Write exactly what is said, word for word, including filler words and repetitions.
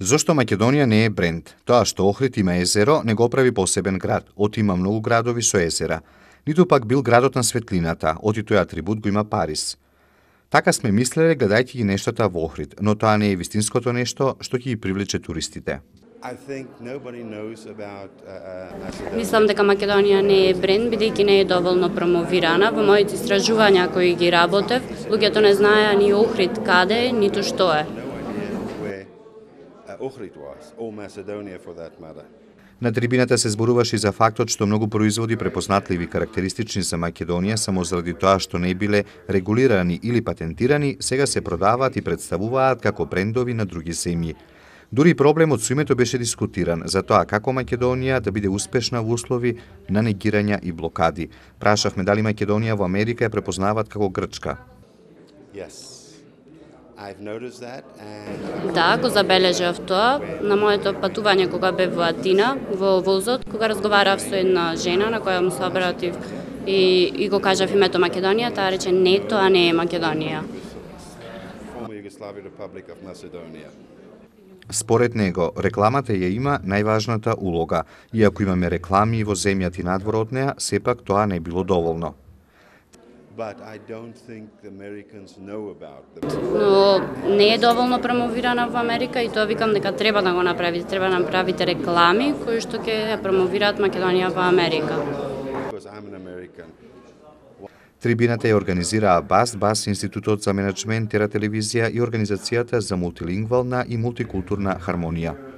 Зошто Македонија не е бренд? Тоа што Охрид има езеро не го прави посебен град. Оти има многу градови со езера. Ниту пак бил градот на светлината, оти тој атрибут го има Париз. Така сме мислеле гледајќи ги нештата во Охрид, но тоа не е вистинското нешто што ќе ги привлече туристите. Мислам дека Македонија не е бренд, бидејќи не е доволно промовирана. Во моите истражувања кои ги работев, луѓето не знаеа ни Охрид каде е, ниту што е. На трибината се зборуваше и за фактот што многу производи препознатливи карактеристични за Македонија само заради тоа што не биле регулирани или патентирани, сега се продаваат и представуваат како брендови на други земји. Дури проблемот со името беше дискутиран за тоа како Македонија да биде успешна во услови на негирања и блокади. Прашавме дали Македонија во Америка ја препознаваат како Грчка. Yes. Да, го забележав тоа на моето патување кога бев во Атина, во возот, кога разговарав со една жена на која му се обратив и, и го кажав името Македонија, таа рече не, тоа не е Македонија. Според него, рекламата ја има најважната улога. Иако имаме реклами во земјата и надвор од неа, сепак тоа не било доволно. Но не е доволно промовирана во Америка и тоа викам дека треба да го направите. Треба да направите реклами кои што ќе ја промовираат Македонија во Америка. Трибината ја организираа БАС, БАС Институтот за менеджмент, Тера телевизија и Организацијата за мултилингвална и мултикултурна хармонија.